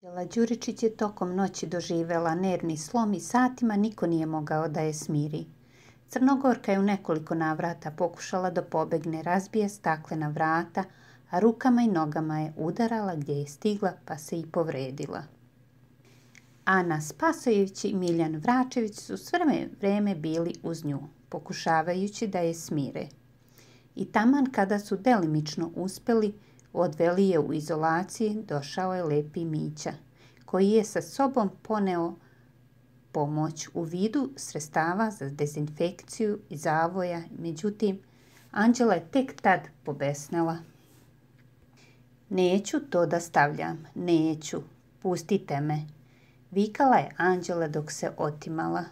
Anđela Đuričić je tokom noći doživjela nervni slom i satima niko nije mogao da je smiri. Crnogorka je u nekoliko navrata pokušala da pobegne, razbije staklena vrata, a rukama i nogama je udarala gdje je stigla pa se i povredila. Ana Spasojević i Miljan Vračević su sve vreme bili uz nju, pokušavajući da je smire. I taman kada su delimično uspjeli, odveli je u izolaciji, došao je Lepi Mića, koji je sa sobom poneo pomoć u vidu sredstava za dezinfekciju i zavoja. Međutim, Anđela je tek tad pobesnela. Neću to da stavljam, neću, pustite me, vikala je Anđela dok se otimala.